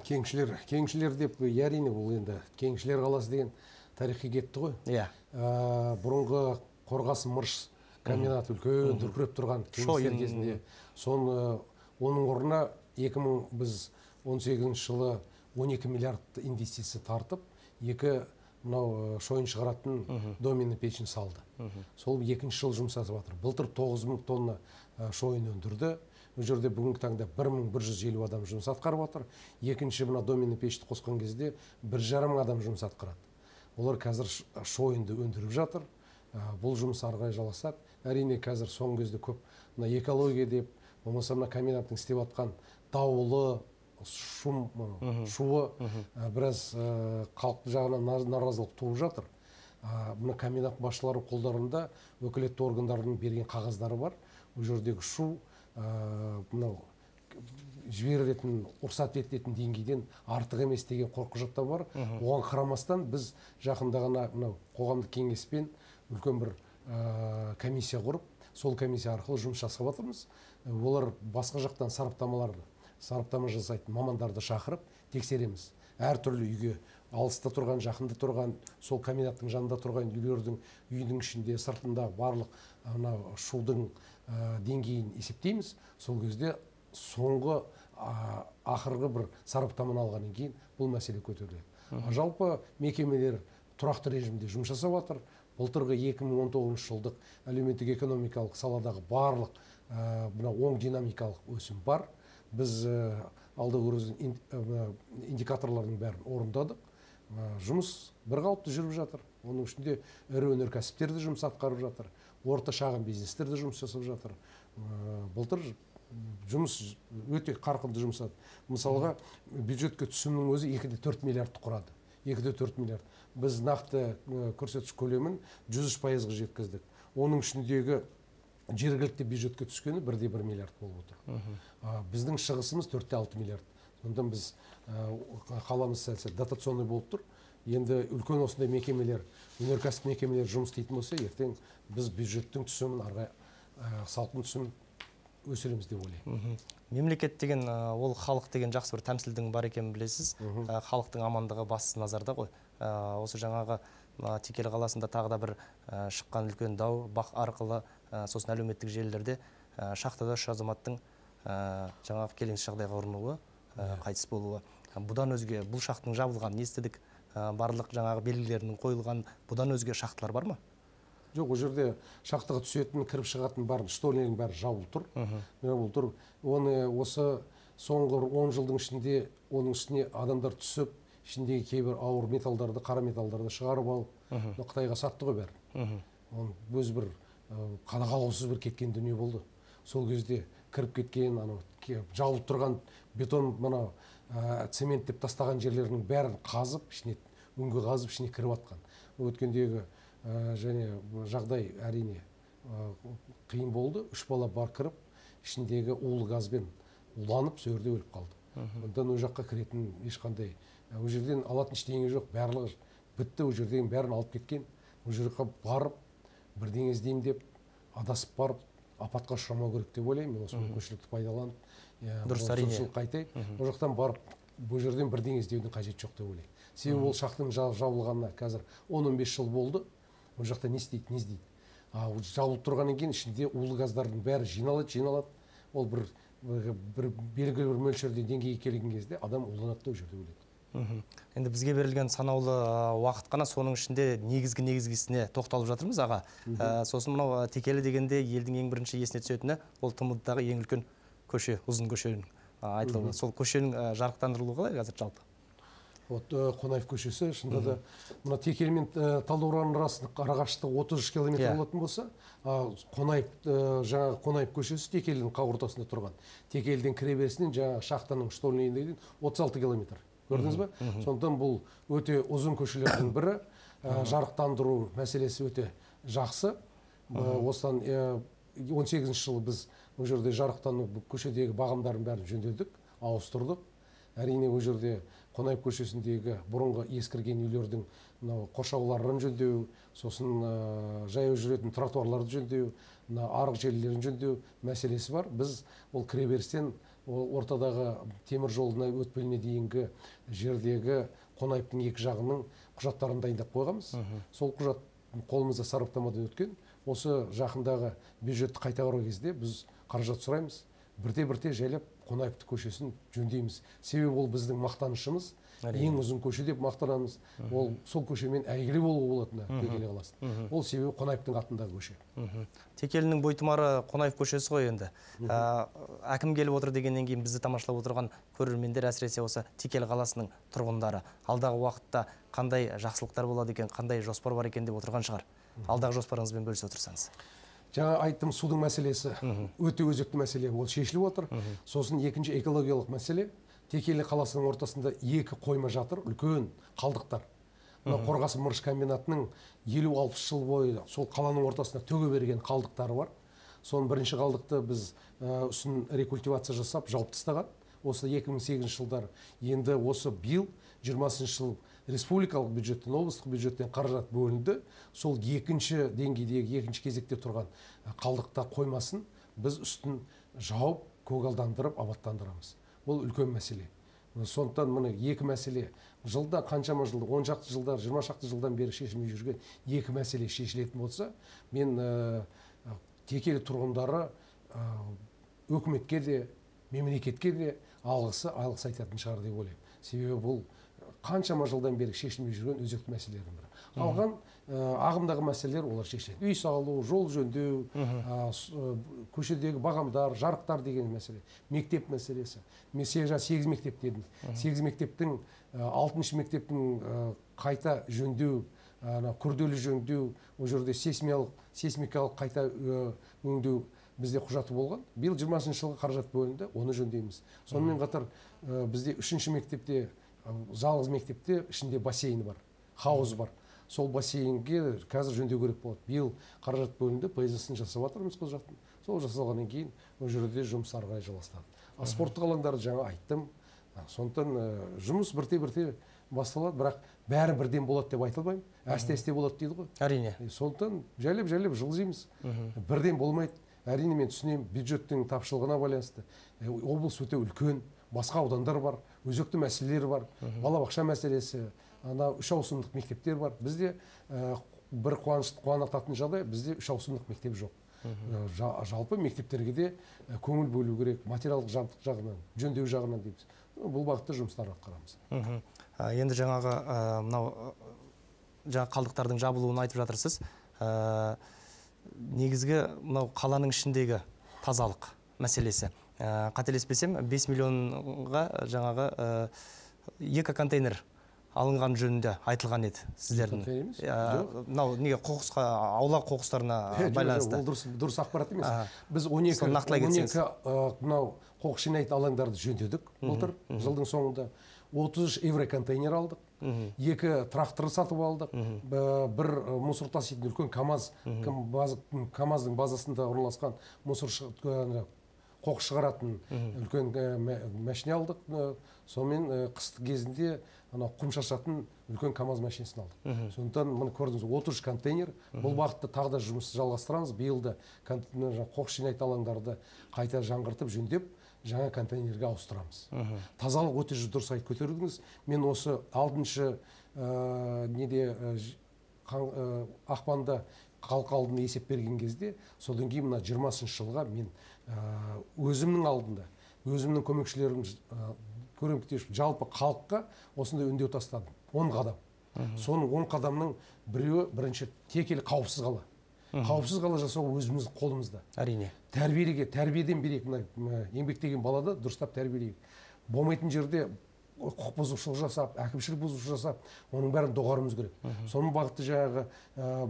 Кеншілер, кеншілер деп әрине бұл енді кеншілер қаласы деген тарихи кетті ғой. Иә. Бұрынғы Қорғасын мырыш комбинаты үлкен дүркіреп тұрған кеншілер кезінде. Оның орнына екі мың он сегізінші жылы он екі миллиард инвестиция тартып, екі мынау шойын шығаратын доменный пешін салды. Сол екінші жыл жұмыс жасап жатыр. Былтыр тоғыз мың тонна шойын өндірді. Ол жерде бүгінгі таңда бір мың бір жүз елу адам жұмыс атқарып отыр. Екінші мына доменный пешті қосқан кезде бір жарым адам жұмыс атқарады. Олар қазір шойынды өндіріп жатыр. Бұл жұмыс ары қарай жалғасады. әрине қазір соңғы кезде көп мына экология деп, болмаса мына комбинаттың істеп жатқан дауылы, шум, шуы біраз халық жағынан наразылық туып жатыр. Мына комбинат басшылары қолдарында өкілетті органдардың берген қағаздары бар. Ол жердегі шу мынау жіберілетін, рұқсат етілетін деңгейден артық емес деген құжаттар бар. Оған қарамастан біз жақында ғана мынау қоғамдық кеңеспен үлкен бір комиссия құрып, сол комиссия арқылы жұмыс жасап жатырмыз. Олар басқа жақтан сараптамаларды, сараптама жасайтын мамандарды шақырып тексереміз. Әртүрлі үйге, алыста тұрған, жақында тұрған, сол комбинаттың жанында тұрған үйлердің үйдің ішінде, сыртында барлық шудың деңгейін есептейміз. Сол кезде соңғы ақырғы бір сараптаманы алғаннан кейін бұл мәселе көтеріледі. Жалпы мекемелер тұрақты режимде жұмыс жасап жатыр. Былтырғы екі мың он тоғызыншы жылдық әлеуметтік экономикалық саладағы барлық оң динамикалық өсім бар. Біз алдағы индикаторлардың бәрін орындадық. Жұмыс бір қалыпты жүріп жатыр. Оның ішінде ірі өнеркәсіптерді жұмыс атқарып жатыр. Орта шағын бизнестерді жұмыс жасап жатыр. Былтыр жұмыс өте қарқынды жұмсады. Мысалға, бюджетке түсімнің өзі екі де төрт миллиардты құрады. екі де төрт миллиард. Біз нақты көрсеткіш көлемін жүз үш пайызға жеткіздік. Оның ішіндегі жергілікті бюджетке түскені бір де бір миллиард болып отыр. Біздің шығысымыз төрт те алты миллиард. Сонда біз қаламыз сәлсе дотационный болып тұр. Енді үлкен осындай мекемелер, өнеркәсіп мекемелер жұмыс істейтін болса, ертең біз бюджеттің түсімін, арға салқын түсімін өсіреміз деп ойлаймын. Мемлекет деген ол халық деген жақсы бір тәмсілдің бар екенін білесіз. Халықтың амандығы басты назарда ғой. Осы жаңағы Текелі қаласында тағы да бір шыққан үлкен дау бақ арқылы сосын әлеуметтік желілерде шахтада үш азаматтың жаңағы келеңсіз жағдайға ұрынуы, қайтыс болуы. Бұдан өзге бұл шахтың жабылғанын естідік. Барлық жаңағы белгілерінің қойылған, бұдан өзге шахталар бар ма? Жоқ, ол жерде шахтаға түсетін, кіріп шығатын барын, штольнердің бәрі жабылып тұр. Жабылып тұр. Оны осы соңғы он жылдың ішінде оның үстіне адамдар түсіп, ішіндегі кейбір ауыр металдарды, қара металдарды шығарып алып, Қытайға сатты ғой бәрі. Оның өз бір қадағалаусыз бір кеткен дүние болды. Сол кезде кіріп кеткен, жабылып тұрған бетон, мына цемент деп тастаған жерлерінің бәрін қазып, ішіне өңге қазып, ішіне кіріп атқан. Өткендегі және жағдай әрине қиын болды. Үш бала бар кіріп, ішіндегі улы газбен уланып, сөрде өліп қалды. Ондан ол жаққа кіретін ешқандай, ол жерден алатын ештеңе жоқ, барлығы бітті, ол жерден бәрін алып кеткен. Ол жерге барып, бірдеңе іздеймін деп, адасып барып, апатқа ұшырамау керек деп ойлаймын. Мен осы мүмкіншілікті пайдаланып, дұрыс, әрине. Ол жақтан барып, бұл жерден бірдеңе іздеудің қажет жоқ деп ойлаймын. Себебі ол шахтың жабылғанына қазір он он бес жыл болды. Ол жақта не істейді, не іздейді. Жабылып тұрғаннан кейін ішінде улы газдардың бәрі жиналады, жиналады. Ол бір белгілі бір мөлшерде деңгейге келген кезде адам уланады да жерде өледі. Енді бізге берілген санаулы уақыт қана, соның ішінде негізгі негізгісіне тоқталып жатырмыз аға. Сосын мынау Текелі дегенде елдің ең бірінші есіне түсетіні ол Т М Д-дағы ең үлкен көше, ұзын көшенің айтылуы. Сол көшенің жарықтандырылуы қалай қазір жалпы? Қонаев көшесі, шында да мына Текелі мен Талдықорғанның арақашықтығы отыз үш километр болатын болса, Қонаев жаңағы Қонаев көшесі Текелінің ортасында тұрған. Текеліден кіреберісінен жаңағы шахтаның штольнейіне дейін отыз алты километр. Көрдіңіз бе? Сондықтан бұл өте ұзын көшелердің бірі, жарықтандыру мәселесі өте жақсы. Осыдан он сегізінші жылы біз ол жерде жарықтану көшедегі бағымдарын бәрін жөндедік, ауыстырдық. Әрине ол жерде Қонаев көшесіндегі бұрынғы ескірген үйлердің қоршауларын жөндеу, сосын жаяу жүретін тротуарларды жөндеу, арық желілерін жөндеу мәселесі бар. Біз ол кіреберістен ортадағы темір жолына өтпеліне дейінгі жердегі Қонаевтың екі жағының құжаттарын дайындап қойғанбыз. Сол құжат қолымызда сараптамадан өткен. Осы жақындағы бюджетті қайта қарау кезде біз қаражат сұраймыз. Бірте-бірте жайлап Қонаевты көшесін жөндейміз. Себебі ол біздің мақтанышымыз, ең ұзын көше деп мақтанамыз. Ол сол көшемен әйгілі болуы болатыны Текелі қаласында. Ол себебі Қонаевтың атындағы көше. Текелінің бойтұмары Қонаев көшесі ғой енді. Әкім келіп отыр дегеннен кейін бізді тамашалап отырған көрермендер, әсіресе осы Текелі қаласының тұрғындары алдағы уақытта қандай жақсылықтар болады екен, қандай жоспар бар екен деп отырған шығар. Алдағы жоспарыңызбен бөлісе отырсаңыз. жаңа айттым, судың мәселесі өте өзекті мәселе, ол шешіліп отыр. Сосын екінші экологиялық мәселе, Текелі қаласының ортасында екі қойма жатыр, үлкен қалдықтар. Қорғасы мырыш комбинатының елу алпыс жыл бойы сол қаланың ортасына төге берген қалдықтары бар. Соның бірінші қалдықты біз үстін рекультивация жасап, жауып тастаған. Осы екі мың сегізінші жылдар. Енді осы биыл жиырмасыншы жыл республикалық бюджеттен, облыстық бюджеттен қаражат бөлінді. Сол екінші деңгейдегі, екінші кезекте тұрған қалдықта қоймасын біз үстін жауып, көгалдандырып, абаттандырамыз. Бұл үлкен мәселе. Сондықтан міне екі мәселе жылда қаншама жылда, он шақты жылдар, жиырма шақты жылдан бері шешілмей жүрген екі мәселе шешілетін болса, мен Текелі тұрғындары өкіметке де, мемлекетке де алғысы, алғыс айтатын шығар деп ойлаймын. Себебі бұл қаншама жылдан бері шешілмей жүрген өзекті мәселелердің бірі. Қалған ағымдағы мәселелер олар шешіледі. Үй салу, жол жөндеу, көшедегі бағамдар, жарықтар деген мәселе, мектеп мәселесі. Мен сегіз мектеп дедім. сегіз мектептің, алтыншы мектептің қайта жөндеу, күрделі жөндеу, ол жерде сейсмикалық қайта өңдеу бізде құжаты болған. Биыл жиырмасыншы жылға қаражат бөлінді, оны жөндейміз. Сонымен қатар бізде үшінші мектепте, жалғыз мектепте ішінде бассейн бар, хауыз бар. Сол бассейнге қазір жөндеу керек болады. Биыл қаражат бөлінді, пайызысын жасап жатырмыз қол жақтың. Сол жасалғаннан кейін ол жерде жұмыс ары қарай жалғастырады. Спорттық алаңдарды жаңа айттым. Сондықтан жұмыс бірте-бірте басталады, бірақ бәрі бірден болады деп айтылмаймын. Әсте-әсте болады дейді ғой. Әрине. Сондықтан жайлап-жайлап жылжимыз. Бірден болмайды. Әрине мен түсінемін, бюджеттің тапшылығына байланысты. Облыс өте үлкен, басқа аудандар бар, өзекті мәселелер бар, балабақша мәселесі, ана үш ауысымдық мектептер бар. Бізде бір қуанататын жағдай, бізде үш ауысымдық мектеп жоқ. Жалпы мектептерге де көңіл бөлу керек, материалдық жабдық жағынан, жөндеу жағынан дейміз. Бұл бағытта жұмыстар атқарамыз. Енді жаңағы мынау жаңа қалдықтардың жабылуын айтып жатырсыз. Негізгі мынау қаланың ішіндегі тазалық мәселесі. Қателеспесем, бес миллионға жаңағы екі контейнер алынған жөнінде айтылған еді сіздердің. Мынау неге қоқысқа, аула қоқыстарына байланысты. Ол дұрыс ақпарат емес. Біз он екі мынау қоқыс жинайтын алаңдарды жөндедік былтыр жылдың соңында. отыз үш евро контейнер алдық. Екі трактор сатып алдық. Бір мусор таситын үлкен КАМАЗ, КАМАЗдың базасында орналасқан мусор қоқыс шығаратын үлкен машина алдық. Сонымен қысты кезінде құм шашатын үлкен КАМАЗ машинасын алдық. Сондықтан мұны көрдіңіз, отыз үш контейнер. Бұл бағытта тағы да жұмысты жалғастырамыз. Биылда қоқыс жинайтын алаңдарды қайта жаңғыртып, жөндеп, жаңа контейнерге ауыстырамыз. Тазалық өте дұрыс айтып көтердіңіз. Мен осы алтыншы неде ақпанда халыққа алдында есеп берген кезде, содан кейін мына жиырмасыншы жылға мен өзімнің алдында, өзімнің көмекшілерім көреміктеш жалпы халыққа осындай үндеу тастадым. он қадам. Соның он қадамның біреуі бірінші Текелі қауіпсіз қала. Қауіпсіз қала жасау өзіміздің қолымызда. Әрине. Тәрбиеге, тәрбиеден берейік, еңбектеген балада дұрыстап тәрбиелейік. Болмайтын жерде құқық бұзушылық жасап, әкімшілік бұзушылық жасап, оның бәрін доғаруымыз керек. Соның бағытты жаңағы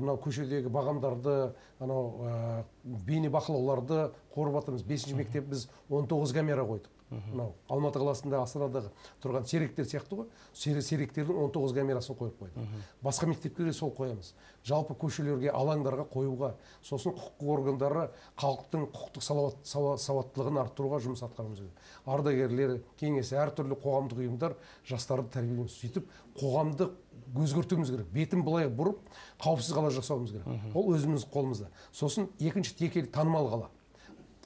мынау көшедегі бағамдарды, анау бейне бақылауларды қорып жатырмыз. бесінші мектеп біз он тоғыз камера қойдық. Алматы қаласында, Астанадағы тұрған серіктер сияқты ғой, серіктердің он тоғыз камерасын қойып қойдық. Басқа мектептерге сол қоямыз. Жалпы көшелерге, алаңдарға қоюға, сосын құқық органдары халықтың құқықтық сауаттылығын арттыруға жұмыс атқаруымыз керек. Ардагерлер, кеңесі, әртүрлі қоғамдық ұйымдар жастарды тәрбиелеуіміз, сөйтіп қоғамды өзгертуіміз керек. Бетін былай бұрып, қауіпсіз қала жасауымыз керек. Ол өзіміз қолымызда. Сосын екінші Текелі танымал қала.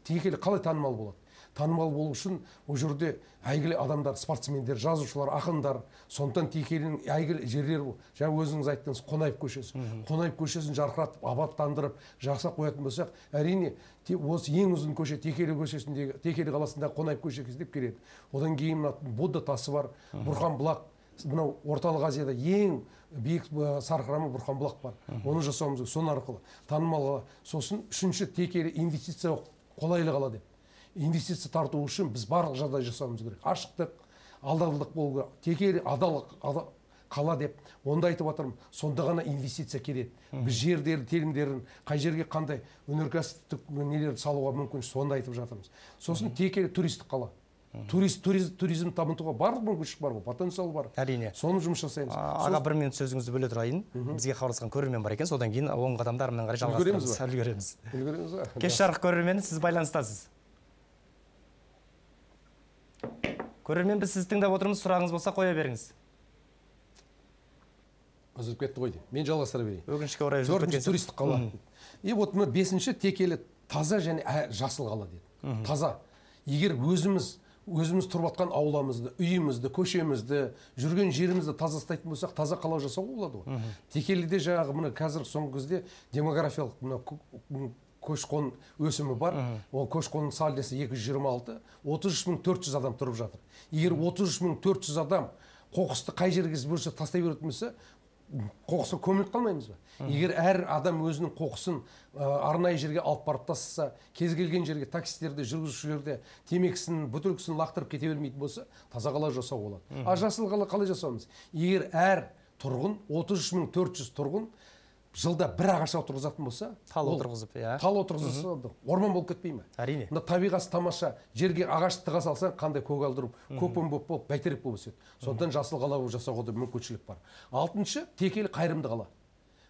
Текелі қалай танымал болады? Танымал болу үшін ол жерде әйгілі адамдар, спортсмендер, жазушылар, ақындар, сондықтан Текелінің әйгілі жерлері бұл. Жаңа өзіңіз айттыңыз, Қонаев көшесі. Қонаев көшесін жарқыратып, абаттандырып, жақсақ қоятын болсақ, әрине осы ең ұзын көше Текелі көшесіндегі, Текелі қаласындағы Қонаев көшесі деп келеді. Одан кейін Будда тасы бар, Бұрхан бұлақ, мынау орталық Азияда ең биік сарқырама Бұрхан бұлақ бар. Оны жасауымыз керек, соның арқылы танымал қала. Сосын үшінші Текелі инвестиция қолайлы қала деп. Инвестиция тарту үшін біз барлық жағдай жасауымыз керек. Ашықтық, алдарлық болу керек. Текелі адал қала деп, онда айтып жатырмын, сонда ғана инвестиция келеді. Біз жердерін, телімдерін, қай жерге қандай өнеркәсіптік нелерді салуға мүмкін, сонда айтып жатырмыз. Сосын текелі туристік қала. Турист, туризм, туризм табынтуға барлық мүмкіншілік бар ғой, потенциал бар. Әрине. Соны жұмыс жасаймыз. Аға, бір минут сөзіңізді бөле тұрайын. Бізге хабарласқан көрермен бар екен, содан кейін оң қадамды әрмен қарай жалғастырамыз. Үлгереміз. Үлгереміз ба? Кеш жарық көрермені, сіз байланыстасыз. Көрермен, біз сізді тыңдап отырмыз, сұрағыңыз болса қоя беріңіз. Үзіліп кетті ғой деймін. Мен жалғастыра берейін. Өкінішке орай үзіліп Төртінші туристік қала. И вот мына бесінші текелі таза және жасыл қала деді. Таза. Егер өзіміз өзіміз тұрып жатқан ауламызды, үйімізді, көшемізді, жүрген жерімізді таза ұстайтын болсақ, таза қала жасауға болады ғой. Текеліде жаңағы мына қазір соңғы кезде демографиялық мына көш-қон өсімі бар. Ол көш-қонның сальдосы екі жүз жиырма алты, отыз үш мың төрт жүз адам тұрып жатыр. Егер отыз үш мың төрт жүз адам қоқысты қай жерге бөлсе тастай беретін болса, қоқысқа көміліп қалмаймыз ба? Егер әр адам өзінің қоқысын арнайы жерге алып барып тастаса, кез келген жерге таксистерде, жүргізушілерде темекісін, бөтелкесін лақтырып кете бермейтін болса, таза қала жасау болады. А жасыл қала қалай жасауымыз? Егер әр тұрғын, отыз үш мың төрт жүз тұрғын жылда бір ағаш отырғызатын болса, тал отырғызып, иә. Тал отырғызса, орман болып кетпей ме? Әрине. Мына табиғаты тамаша, жерге ағаш тыға салсаң, қандай көгалдырып, көкпен болып болып, бәйтерек болып өседі. Сондықтан жасыл қала жасауға да мүмкіншілік бар. Алтыншы, текелі қайырымды қала.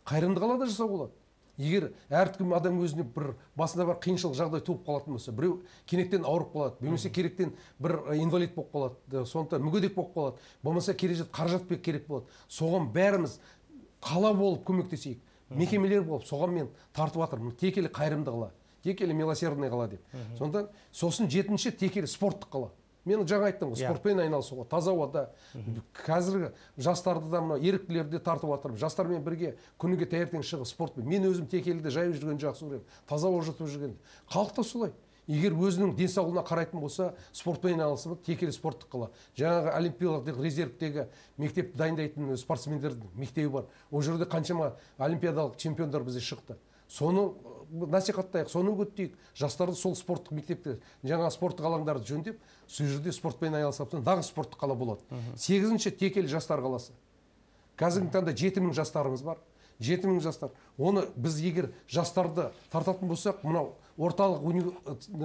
Қайырымды қала да жасауға болады. Егер әркім адам өзіне бір басында бір қиыншылық жағдай туып қалатын болса, біреу кенеттен ауырып қалады, болмаса керектен бір инвалид болып қалады, сондықтан мүгедек болып қалады, болмаса кережет қаражат керек болады. Соған бәріміз қала болып көмектесейік. Мекемелер болып, соған мен тартып жатырмын. Текелі қайырымды қала, текелі милосердный қала деп. Сондықтан сосын жетінші текелі спорттық қала. Мен жаңа айттым ғой, спортпен айналысуға, таза ауада. Қазіргі жастарды да мына еріктілерді тартып жатырмын. Жастармен бірге күніге таңертең шығып спортпен. Мен өзім текеліде жайып жүрген жақсы көремін. Таза ауа жұтып жүрген. Халық та солай. Егер өзінің денсаулығына қарайтын болса, спортпен айналысып, текелі спорттық қала. Жаңағы олимпиадалық резервтегі мектепті дайындайтын спортсмендердің мектебі бар. Ол жерде қаншама олимпиадалық чемпиондар бізде шықты. Соны насихаттайық, соны үгіттейік. Жастарды сол спорттық мектепте, жаңа спорттық алаңдарды жөндеп, сол жерде спортпен айналысып, дағы спорттық қала болады. Сегізінші текелі жастар қаласы. Қазіргі таңда жеті мың жастарымыз бар. жеті мың жастар. Оны біз егер жастарды тартатын болсақ, мынау орталық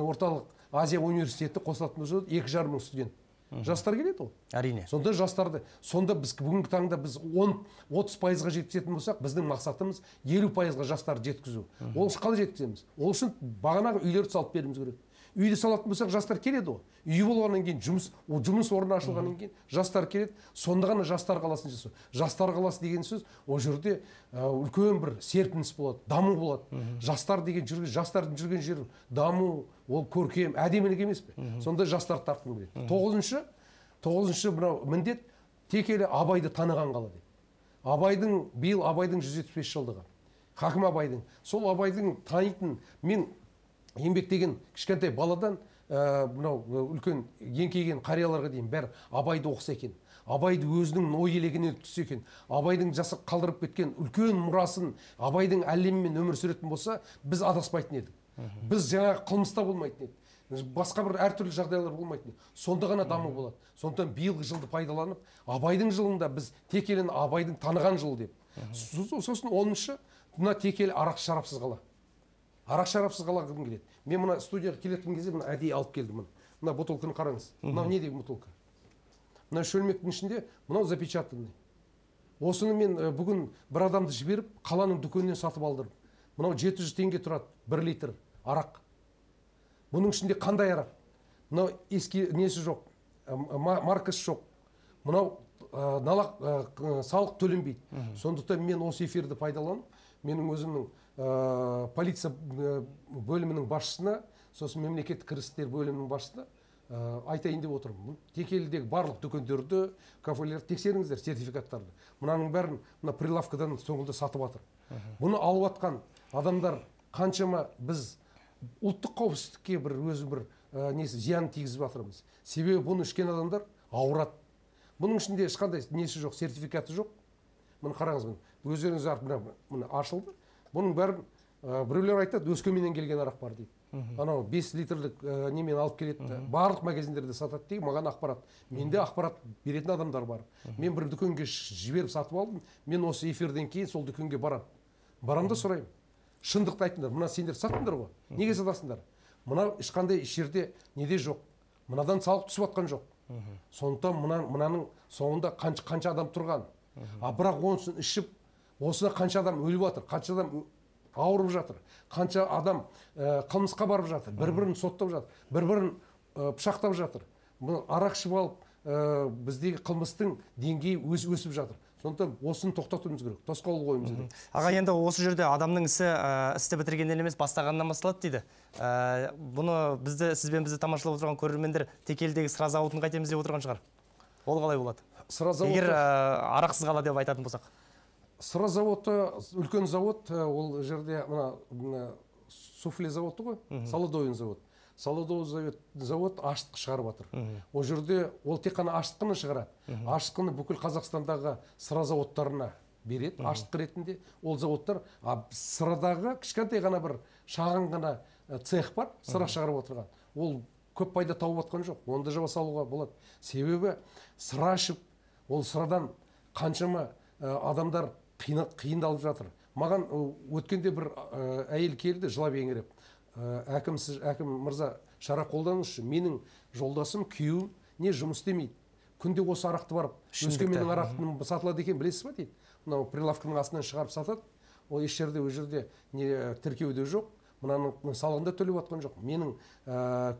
орталық Азия университеті қосылатын болса, екі жарым мың студент. Жастар келеді ол. Әрине. Сонда жастарды, сонда біз бүгінгі таңда біз он отыз пайызға жеткізетін болсақ, біздің мақсатымыз елу пайызға жастарды жеткізу. Ол үшін қалай жеткіземіз? Ол үшін бағанағы үйлерді салып беруіміз керек. Үйді салатын болсақ, жастар келеді ғой. Үй болғаннан кейін жұмыс, о жұмыс орны ашылғаннан кейін жастар келеді. Сонда ғана жастар қаласын жасау. Жастар қаласы деген сөз, ол жерде үлкен бір серпіліс болады, даму болады. Жастар деген жүрген, жастардың жүрген жері даму, ол көркем, әдемілік емес пе? Сонда жастар тартқым келеді. Тоғызыншы, тоғызыншы мынау міндет текелі Абайды таныған қала деп. Абайдың биыл Абайдың жүз жетпіс бес жылдығы. Хакім Абайдың. Сол Абайдың танитын мен еңбектеген кішкентай баладан мынау үлкен еңкейген қарияларға дейін бәрі Абайды оқыса екен. Абайды өзінің ой елегіне түссе екен. Абайдың жасы қалдырып кеткен үлкен мұрасын Абайдың әлемімен өмір сүретін болса, біз адаспайтын едік. Біз жаңа қылмыста болмайтын едік. Басқа бір әртүрлі жағдайлар болмайтын. Сонда ғана даму болады. Сондықтан биылғы жылды пайдаланып, Абайдың жылында біз текелін Абайдың таныған жыл деп. Сосын оныншы, мына текелі арақ шарапсыз қала. Арақ шарапсыз қала кім келеді? Мен мына студияға келетін кезде мына әдейі алып келдім. Мына бутылканы қараңыз. Мынау не деген бутылка? Мына шөлмектің ішінде мынау запечатанный. Осыны мен бүгін бір адамды жіберіп, қаланың дүкенінен сатып алдырдым. Мынау жеті жүз теңге тұрады, бір литр арақ. Бұның ішінде қандай арақ? Мынау ескі несі жоқ, маркасы жоқ. Мынау салық төленбейді. Сондықтан мен осы эфирді пайдаланып, менің өзімнің полиция бөлімінің басшысына, сосын мемлекеттік кірістер бөлімінің басшысына айтайын деп отырмын. Текелідегі барлық дүкендерді, кафелерді тексеріңіздер, сертификаттарды. Мұнаның бәрін мына прилавкадан соңында сатып жатыр. Бұны алып жатқан адамдар қаншама біз ұлттық қауіпсіздікке бір өзі бір несі зиян тигізіп жатырмыз. Себебі бұны ішкен адамдар ауырады. Бұның ішінде ешқандай несі жоқ, сертификаты жоқ. Мұны қараңыз, өздеріңіз мына ашылды. Бұның бәрін біреулер айтады, Өскеменнен келген арақ бар дейді. анау бес литрлік немен алып келеді, барлық магазиндерде сатады деген маған ақпарат. Менде ақпарат беретін адамдар бар. Мен бір дүкенге жіберіп сатып алдым, мен осы эфирден кейін сол дүкенге барам. Барам да сұраймын. Шындықты айтыңдар, мына сендер саттыңдар ғой, неге сатасыңдар? Мына ешқандай жерде неде жоқ, мынадан салық түсіп жатқан жоқ. Сондықтан мынаның соңында қанша адам тұрған. А бірақ онысын ішіп, осына қанша адам өліп жатыр, қанша адам ауырып жатыр, қанша адам қылмысқа барып жатыр, бір-бірін соттап жатыр, бір-бірін пышақтап жатыр. Арақ ішіп алып, біздегі қылмыстың деңгейі өсіп жатыр. Сондықтан осыны тоқтатуымыз керек, тосқауыл қоюымыз керек. Аға, енді осы жерде адамның ісі істі бітіргеннен емес бастағаннан басталады дейді. Бұны бізді, сізбен бізді тамашалап отырған көрермендер Текелідегі сыра зауытын қайтеміз деп отырған шығар. Ол қалай болады? Сыра зауыты... Егер арақсыз қала деп айтатын болсақ. Сыра зауыты, үлкен зауыт, ол жерде мына суфле зауыты ғой, Солодовин зауыт. Солодовин зауыт ашытқы шығарып жатыр. Ол жерде ол тек қана ашытқыны шығарады. Ашытқыны бүкіл Қазақстандағы сыра зауыттарына береді, ашытқы ретінде. Ол зауыттар сырадағы кішкентай ғана бір шағын ғана цех бар, сыра шығарып отырған. Ол көп пайда тауып жатқан жоқ. Оны да жаба салуға болады. Себебі сыра ішіп, ол сырадан қаншама адамдар қиындалып жатыр. Маған өткенде бір әйел келді, жылап еңіреп. Әкім, әкім мырза, шара қолданыңызшы, менің жолдасым, күйеуім не жұмыс істемейді. Күнде осы арақты барып, Өскеменнің арақтың сатылады екен, білесіз ба дейді. Мынау прилавканың астынан шығарып сатады. Ол еш жерде, ол жерде тіркеуде жоқ. Мынаның салығында төлеп жатқан жоқ. Менің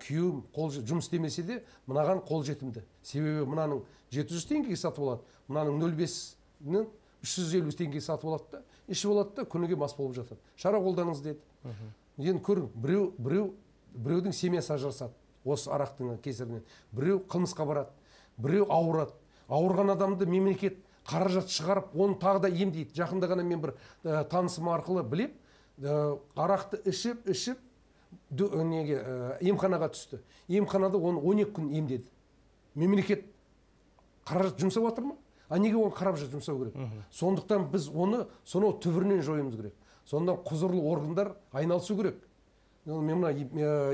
күйеуім жұмыс істемесе де, мынаған қол жетімді. Себебі мынаның жеті жүз теңгеге сатып алады, мынаның нөл бесінің үш жүз елу теңгеге сатып алады да, ішіп алады да, күніге мас болып жатады. Шара қолданыңыз деді. Енді көрің, біреу, біреу, біреудің семьясы ажырасады осы арақтың кесірінен. Біреу қылмысқа барады, біреу ауырады. Ауырған адамды мемлекет қаражат шығарып, оны тағы да емдейді. Жақында ғана мен бір танысым арқылы білеп, арақты ішіп, ішіп, неге емханаға түсті. Емханада оны он екі күн емдеді. Мемлекет қаражат жұмсап жатыр ма? А неге оны қаражат жұмсау керек? Сондықтан біз оны сонау түбірінен жоюымыз керек. Сонда құзырлы органдар айналысу керек. Мен мына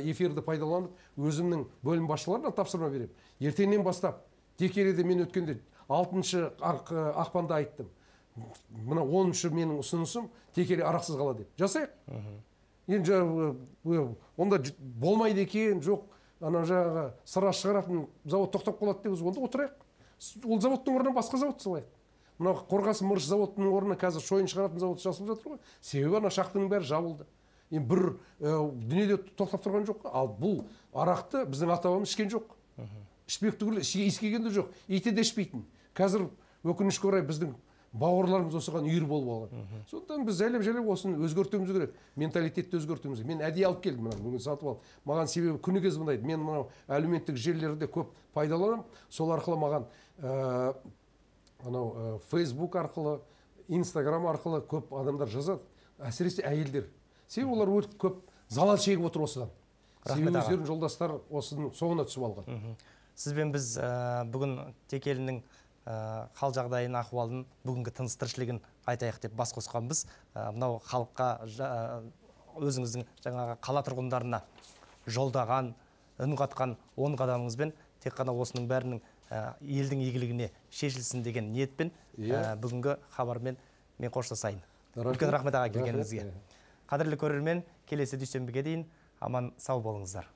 эфирді пайдаланып, өзімнің бөлім басшыларына тапсырма беремін. Ертеңнен бастап, Текеліде мен өткенде алтыншы ақпанда айттым. Мына оныншы менің ұсынысым Текелі арақсыз қала деп. Жасайық. Енді онда болмайды екен, жоқ, ана жаңағы сыра шығаратын завод тоқтап қалады деп, онда отырайық. Ол заводтың орнына басқа завод салайық. Мына Қорғасын мырыш заводының орнына қазір шойын шығаратын завод жасалып жатыр ғой. Себебі ана шахтаның бәрі жабылды. Енді бір дүниеде тоқтап тұрған жоқ. Ал бұл арақты біздің ата-бабамыз ішкен жоқ. Ішпек түгілі, иіскеген де жоқ. Иті де ішпейтін. Қазір өкінішке орай біздің бауырларымыз осыған үйір болып алған. Сондықтан біз жайлап-жайлап осыны өзгертуіміз керек. Менталитетті өзгертуіміз керек. Мен әдейі алып келдім мына, бүгін сатып алып. Маған себебі күні кез мынайды. Мен мынау әлеуметтік желілерде көп пайдаланамын. Сол арқылы маған анау Facebook арқылы, Instagram арқылы көп адамдар жазады. Әсіресе әйелдер. Себебі олар өте көп залал шегіп отыр осыдан. Себебі өздерінің жолдастар осының соңына түсіп алған. Сізбен біз бүгін Текелінің хал жағдайын, ахуалын, бүгінгі тыныс тіршілігін айтайық деп бас қосқанбыз. Мынау халыққа, өзіңіздің жаңағы қала тұрғындарына жолдаған, үн қатқан он қадамыңызбен тек қана осының бәрінің елдің игілігіне шешілсін деген ниетпен бүгінгі хабармен мен қоштасайын. Үлкен рахмет аға келгеніңізге. Қадірлі көрермен, келесі дүйсенбіге дейін аман сау болыңыздар.